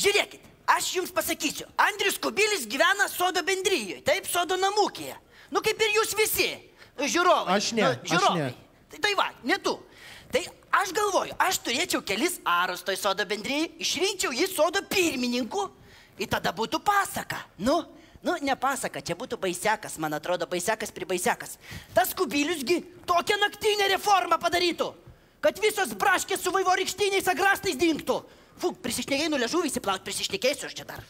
Žiūrėkit, aš jums pasakysiu. Andrius Kubilius gyvena sodo bendrijoje, taip, sodo namūkėje. Nu, kaip ir jūs visi, žiūrovai. Aš ne, aš ne. Tai va, ne tu. Tai aš galvoju, aš turėčiau kelis arus toj sodo bendrijai, išrinkčiau jį sodo pirmininku, ir tada būtų pasaka. Nu, ne pasaka, čia būtų baisekas, man atrodo, baisekas prie baisekas. Tas Kubiliusgi tokią naktinę reformą padarytų, kad visos braškės su vaivorykštiniais agrastais dingtų. Fu, prisišnekėjai, nu liežuvį įsiplaut, prisišnekėsiu aš čia dar.